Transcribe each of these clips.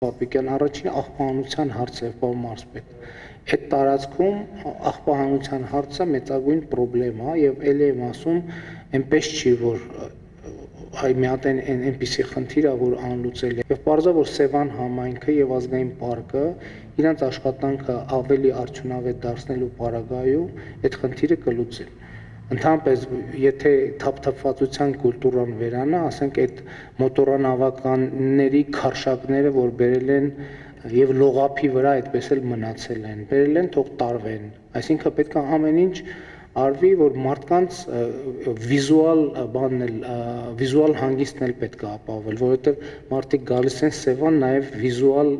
Պապիկյան առաջին աղբահանության հարցը է, պարոն մարզպետ։ Այդ տարածքում աղբահանության հարցը մեծագույն պրոբլեմ է եւ ելի եմ ասում, այնպես չի, որ այ մի հատ այնպիսի խնդիր է, որ անլուծելի է։ Եվ պարզա որ Սևան համայնքը եւ ազգային պարկը իրանց աշխատանքը ավելի արդյունավետ դարձնելու պարագայում այդ խնդիրը կլուծեն։ Ընդհանրապես, եթե թափթփվածության կուլտուրան վերանա, ասենք այդ մոտորանավականների քարշակները, որ բերել են եւ լողափի վրա այդպես էլ մնացել են, բերել են թող տարվեն։ Այսինքն պետք է ամեն ինչ արվի, որ մարդկանց վիզուալ բանն էլ վիզուալ հանգիստն էլ պետք է ապահովել, որովհետեւ մարդիկ գալիս են Սևան նաեւ վիզուալ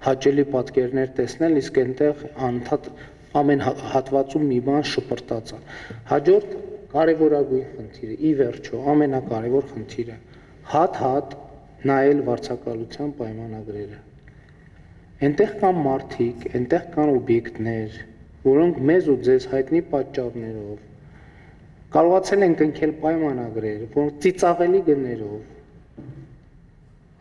հաճելի պատկերներ տեսնել, իսկ այնտեղ անընդհատ ամեն հատվածում մի բան շպրտած է։ Հաջորդ կարևորագույն խնդիրը, ի վերջո, ամենակարևոր խնդիրը, հատ նայել վարձակալության պայմանագրերը։ Այնտեղ կան մարդիկ, այնտեղ կան օբյեկտներ, որոնք մեզ ու ձեզ հայտնի պատճառներով կարողացել են կնքել պայմանագրեր, որոնք ծիծաղելի գներով,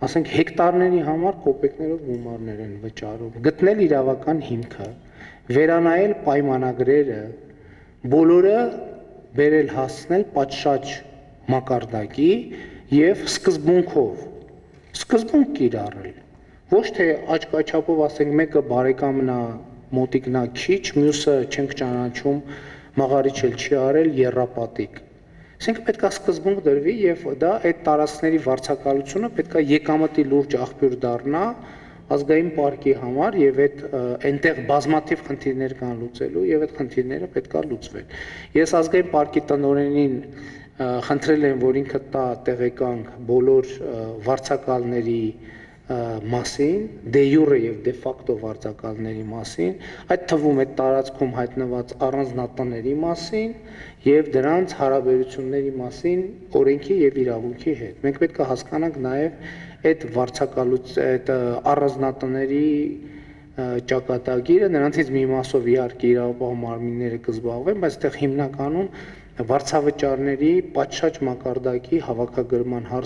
ասենք հեկտարների համար կոպեկներով գումարներ են վճարում, գտնել իրավական հիմքը, վերանայել պայմանագրերը, բոլորը բերել հասցնել պատշաճ մակարդակի եւ սկզբունք կիրառել։ Ոչ թե աչքաչափով ասենք մեկը բարեկամն է, մոտիկն է քիչ, մյուսը չենք ճանաչում, մաղարիչ էլ չի արել, եռապատիկ։ Այսինքն պետք է սկզբունք դրվի եւ դա այդ տարածքների վարձակալությունը պետք է եկամտի լուրջ աղբյուր դառնա ազգային պարկի համար եւ այնտեղ բազմաթիվ խնդիրներ կան լուծելու եւ այդ խնդիրները պետք է լուծվեն։ Ես ազգային պարկի տնօրենին խնդրել եմ, որ ինքը տա տեղեկանք բոլոր վարձակալների մասին, դե յուրե եւ դե ֆակտո վարձակալների մասին, այդ թվում այդ տարածքում հայտնված առանձնատների մասին եւ դրանց հարաբերությունների մասին օրենքի եւ իրավունքի հետ։ Մենք պետք է հասկանանք նաեւ այդ այդ առանձնատների ճակատագիրը, նրանցից մի մասով իհարկե իրավապահ մարմինները կզբաղվեն, բայց այդտեղ հիմնականում վարձավճարների պատշաճ մակարդակի հավաքագրման հարց